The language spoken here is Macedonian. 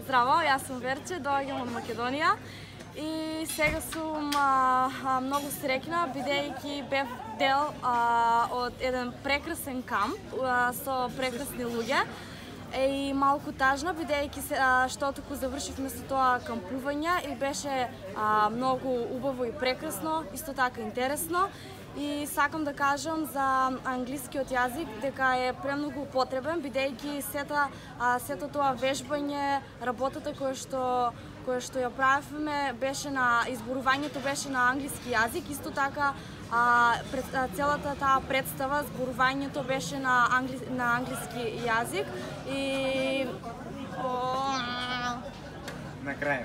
Здраво, јас сум Верче, доаѓам од Македонија и сега сум многу среќна бидејќи бев дел од еден прекрасен камп со прекрасни луѓе и малку тажна бидејќи што току завршивме со тоа кампување и беше многу убаво и прекрасно, исто така интересно. И сакам да кажам за англискиот јазик дека е премногу потребен бидејќи сето тоа вежбање, работата која што ја правевме беше на изборувањето беше на англиски јазик, исто така целата таа представа, зборувањето беше на англиски јазик и на крај.